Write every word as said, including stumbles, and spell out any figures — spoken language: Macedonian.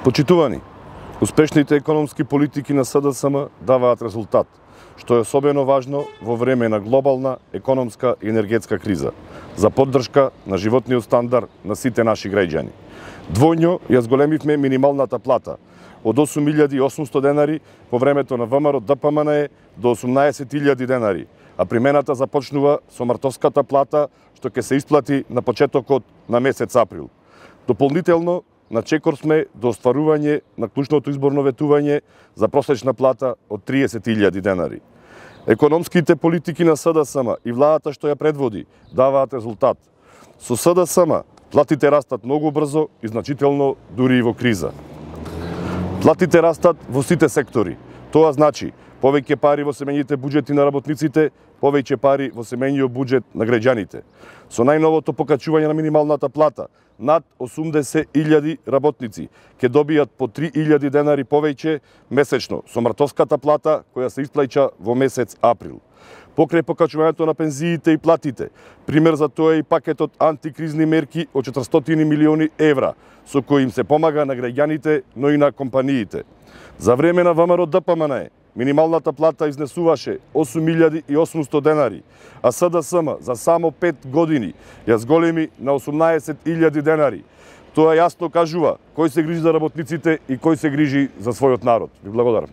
Почитувани, успешните економски политики на СДСМ даваат резултат, што е особено важно во време на глобална економска и енергетска криза, за поддршка на животниот стандард на сите наши граѓани. Двојно ја зголемивме минималната плата од осум илјади и осумсто денари по времето на ВМРО Д П М Н Е до осумнаесет илјади денари, а примената започнува со мартовската плата што ќе се исплати на почетокот на месец април. Дополнително, на чекор сме до остварување на клучното изборно ветување за просечна плата од триесет илјади денари. Економските политики на СДСМ и владата што ја предводи даваат резултат. Со СДСМ платите растат многу брзо и значително дури и во криза. Платите растат во сите сектори. Тоа значи повеќе пари во семејните буџети на работниците, повеќе пари во семејниот буџет на граѓаните. Со најновото покачување на минималната плата, над осумдесет илјади работници ќе добијат по три илјади денари повеќе месечно со мартовската плата која се исплаќа во месец април. Покрај покачувањето на пензиите и платите, пример за тоа е и пакетот антикризни мерки од четиристотини милиони евра, со кои им се помага на граѓаните, но и на компаниите. За време на ВМРО Д П М Н Е минималната плата изнесуваше осум илјади и осумсто денари, а СДСМ за само пет години ја зголеми на осумнаесет илјади денари. Тоа јасно кажува кој се грижи за работниците и кој се грижи за својот народ. Ви благодарам.